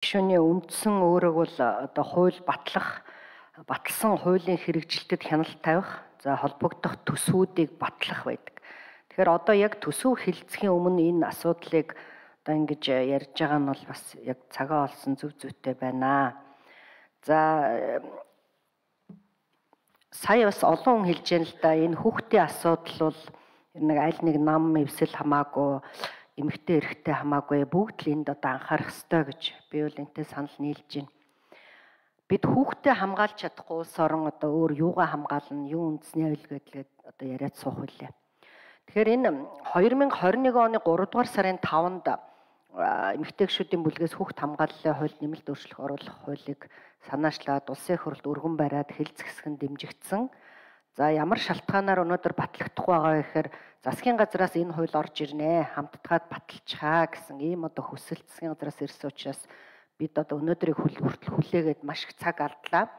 Гишүүний үндсэн өөрөг бол одоо хууль батлсан хуулийн хэрэгжилтэд хяналт тавих, за холбогдох төсвүүдийг батлах байдаг. Тэгэхээр одоо яг төсөв хэлцэхийн өмнө энэ асуудлыг одоо ингэж ярьж байгаа нь бол бас яг цагаа олсон зөв зүйтэй байна. За сая бас олон хүн хэлж яана л да, энэ хүүхдийн асуудал бол нэг аль нэг нам эвсэл хамаагүй, эмэгтэй эрэгтэй хамаагүй бүгд л энд одоо анхаарах ёстой гэж би бол энтэй санал нийлж байна. Бид хүүхдээ хамгаалж чадахгүй улс орон одоо өөр юугаа хамгаална, юу үндэсний аюул гэдгээд одоо яриад суух үлээ. Тэгэхээр энэ 2021 оны 3 дугаар сарын 5-нд эмэгтэй гишүүдийн бүлгээс хүүхд хамгааллын хуульд нэмэлт өөрчлөлт оруулах хуулийг санаачлаад улсын их хурлд өргөн бариад хэлцэсгэн дэмжигдсэн. За ямар шалтгаанаар өнөөдөр батлагдахгүй байгаа вэ гэхээр засгийн газраас энэ хууль орж ирнэ, хамтдаад баталчихаа гэсэн ийм одоо хүсэлт засгийн газраас ирсэн учраас бид одоо өнөөдрийг хүртэл хүлээгээд маш их цаг алдлаа.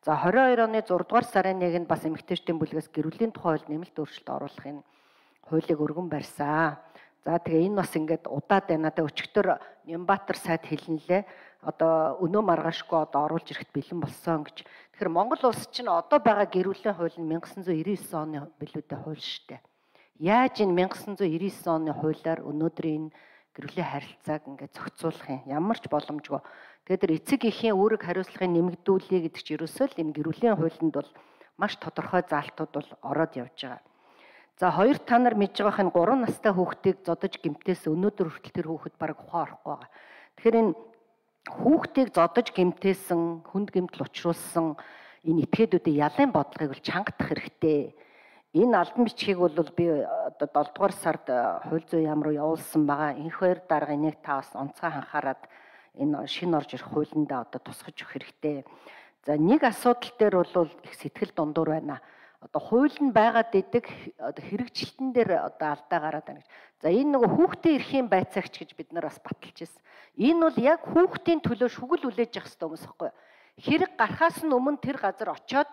За 22 оны 6 дугаар сарын 1-нд бас эмэгтэйчдийн бүлгээс гэрүүлийн тухай хууль нэмэлт өөрчлөлт оруулахын хуулийг өргөн барьсан. За тэгээ энэ бас ингээд удаад байна. Одоо өчигдөр Нямбатар сайд хэлнэлээ. Одоо өнөө маргаашгүй одоо оруулж ирэхэд бэлэн болсон гэж. Тэгэхээр Монгол улс чинь одоо байгаа гэрүүлийн хууль нь 1999 оны билүүдэд хууль шүү дээ. Яаж энэ 1999 оны хуулиар өнөөдрийн гэрүүлийн харилцааг ингээд зохицуулах юм? Ямар ч боломжгүй. Тэгээд тэр эцэг эхийн үүрэг хариуцлагыг нэмэгдүүлээ гэдэг чинь ерөөсөө л энэ гэрүүлийн хуулинд бол маш тодорхой заалтууд бол ороод явж байгаа. За хоёр та нар мэдж байгаа энэ 3 настай хүүхдийг зодож гэмтээс өнөөдөр хүртэл тэр хүүхэд бараг ухаан орохгүй байгаа. Тэгэхээр энэ хүүхдийг зодож гэмтээсэн, хүнд гэмтэл учруулсан энэ этгээдүүдийн ялын бодлогыг бол чангадах хэрэгтэй. Энэ албан бичгийг бол би одоо 7 дугаар сард хууль зүйн яам руу явуулсан байгаа. Энх хоёр дарга энийг та бас онцгой анхаарад энэ шинэ орж ирэх хуулиндаа одоо тусгаж өгөх хэрэгтэй. За нэг асуудал дээр бол их сэтгэл дундуур байна. Одоо хууль нь байгаад идэг одоо хэрэгжилтэн дээр одоо алдаа гараад байна гэж. За энэ нөгөө хүүхдийн эрхийн байцаагч гэж бид нар бас баталж ирсэн. Энэ бол яг хүүхдийн төлөө шүгэл үлээж явах хэрэгтэй хүмүүс байхгүй. Хэрэг гарахаас нь өмнө тэр газар очиод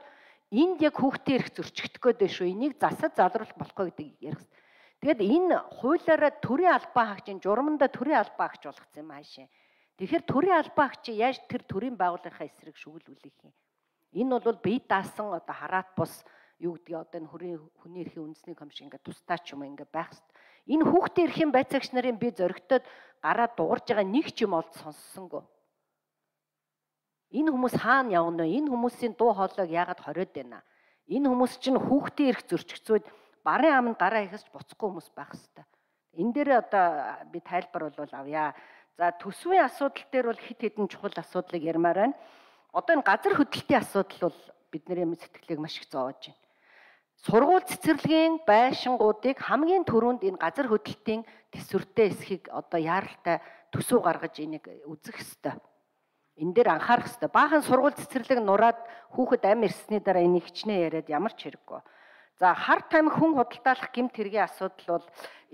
энд яг хүүхдийн эрх зөрчигдөх гээд шүү. Энийг засаж залруулах болохгүй гэдгийг ярих хэрэгтэй. Тэгэд энэ хуулиараа төрийн албан хаагчийн журамдаа төрийн албан хаагч болгоцсон юм аашаа. Тэгэхээр төрийн албан хаагч яаж тэр төрийн байгууллагынхаа эсрэг шүгэл үлээх юм? Энэ бол бие даасан одоо хараат бус юу гэдгийг одоо энэ хүний эрхийн үндэсний комисшн ингээд тусдаа ч юм уу ингээд байх хэрэгтэй. Энэ хүүхдийн эрхийн байцаагч нарын би зөрөгтөд гараад дуурж байгаа нэг ч юм олд сонссонгүй. Энэ хүмүүс хаана явна вэ? Энэ хүмүүсийн дуу хоолойг яагаад хориод байна? Энэ хүмүүс чинь хүүхдийн эрх зөрчигцүүд барын аманд гараа ихэж буцахгүй хүмүүс байх хэрэгтэй. Энэ дээр одоо би тайлбар бол авъя. За төсвийн асуудал дээр бол хит хитэн чухал асуудлыг ярмаар байна. Одоо энэ газар хөдлөлтийн асуудал бол бидний сэтгэлийг маш их зовоож байна. Сургууль цэцэрлэгийн байшингуудыг хамгийн түрүүнд энэ газар хөдлөлтийн төсвөртэй эсхийг одоо яаралтай төсөв гаргаж энийг үзэх ёстой. Энэ дээр анхаарах ёстой. Баахан сургууль цэцэрлэг нураад хүүхэд ам ирсний дараа энийг хичнээн яриад ямар ч хэрэггүй. За хар тамхи хүн худалдаалах гэмт хэргийн асуудал бол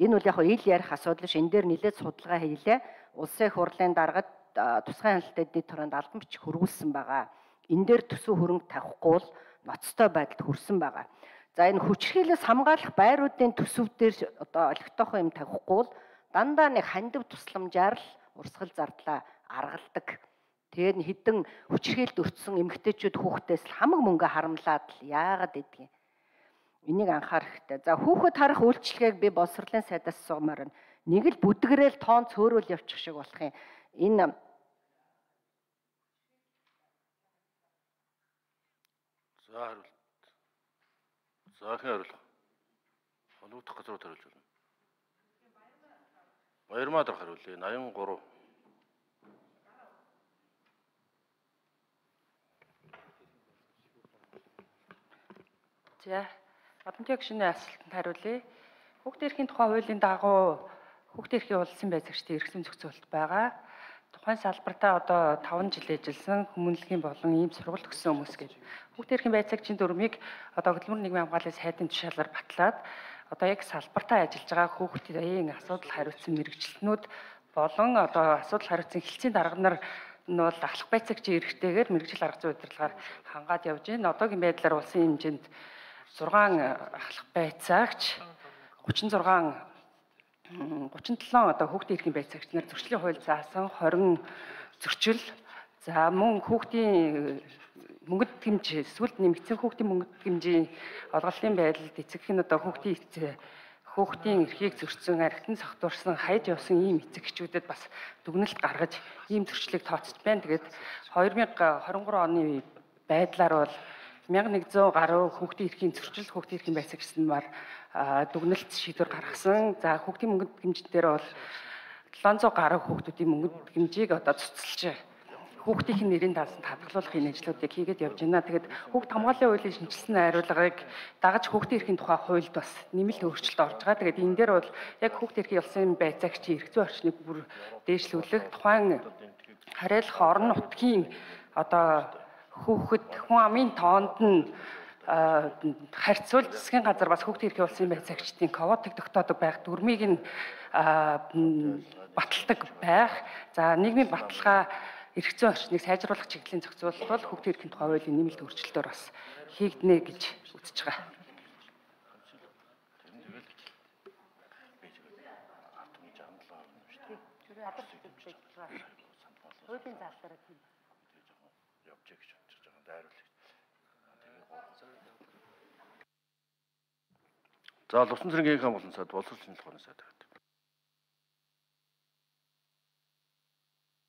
энэ бол яг ил ярих асуудал ш. Энэ дээр нэлээд судалгаа хийлээ. Улсын их хурлын даргад тусгай хяналтын дэд төрөнд албан бичих хөрвүүлсэн байгаа. Энэ дээр төсөв хөрөнгө тавихгүй бол ноцтой байдалд хүрсэн байгаа. За энэ хүчирхийлээс хамгаалах байруудын төсөв дээр одоо олигтойхон юм тавихгүй бол дандаа нэг хандив тусламжаар л урсгал зардлаа аргалдаг. Тэгээд хідэн хүчирхийлд өртсөн эмэгтэйчүүд хүүхдээс хамаг мөнгө харамлаад л яагаад гэдгийг энийг анхаарах хэрэгтэй. За хүүхэд харах үйлчлэгийг би боловсролын сайдаас суумаар байна. Нэг л бүдгэрэл тоон цөөрөл явчих шиг болох юм. Энэ Заахийн хариулах. Холбогдох газрууд хариулж байна. Баярмаа дарга хариулъя. 83. За, Одонтой гишүүний асуултанд хариулъя. Хүүхдийн эрхийн тухай хуулийн дагуу хүүхдийн эрхийн улсын байцаагчдын эрх зүйн зохицуулалт байгаа. Тухайн салбартаа одоо 5 жил ажилласан хүмүүнлэгийн болон ийм сургалт өгсөн хүмүүс гэж. Хүүхдийн эрхийн байцаагчийн дүрмийг одоо хөдөлмөр нийгмийн хамгааллын сайдын тушаалаар батлаад одоо яг салбартаа ажиллаж байгаа хүүхдийн асуудал хариуцсан мэрэгчлэнүүд болон одоо асуудал хариуцсан хэлтсийн дарга нар нь бол ахлах байцаагчийн эрхтэйгээр мэрэгжил арга зүйн удирдлагаар хангаад явж байна. Одоогийн байдлаар улсын хэмжээнд 6 ахлах байцаагч 37 одоо хүүхдийн эрхийн байцаагч нар зөрчлийн хууль заасан 20 зөрчил. За мөн хүүхдийн мөнгөд гэмж эсвэл нэмэгдсэн хүүхдийн мөнгөд гэмжийн олголтын байдалд эцэг нь одоо хүүхдийн эрхийг зөрчсөн, архитан согтуурсан, хайж явсан ийм эцэгчүүдэд бас дүгнэлт гаргаж ийм зөрчлийг тооцож байна. Тэгээд 2023 оны байдлаар бол 1100 гаруй хүүхдийн эрхийн зөрчил, хүүхдийн эрхийн байцаагч нар дүгнэлт шийдвэр гаргасан. За хүүхдийн мөнгөд гэмжин дээр бол 700 гаруй хүүхдүүдийн мөнгөд гэмжийг одоо цуцлж хүүхдийн нэрийн даасан хадгалуулахын ажлуудыг хийгээд явж байна. Тэгээд хүүхд хамгааллын хуулийн шинжилсэн найруулгыг дагаж хүүхдийн эрхийн тухай хуульд бас нэмэлт өөрчлөлт орж байгаа. Тэгээд энэ дээр бол яг хүүхдийн эрхийн улсын байцаагчийн эрх зүйн орчныг бүр дээшлүүлэх, тухайн хариалах орон нутгийн одоо хүн амын тоонд нь харьцуулж засгийн газар бас хүүхдийн эрхийн улсын байцаагчдын квотыг тогтоодог байх дүрмийг нь баталдаг байх. За нийгмийн баталгаа эрх зүйн орчныг сайжруулах чиглэлийн зохицуулалт бол хүүхдийн эрхийн тухай хуулийн нэмэлт өөрчлөлтөөр бас хийгднэ гэж үзэж байгаа. Хуулийн заалтаараа тийм. Явж гэж бодож байгаа дайруулах. За Лувсан цэргийн хаан болон сайд боловсрол шинжилгээ ухааны сайд.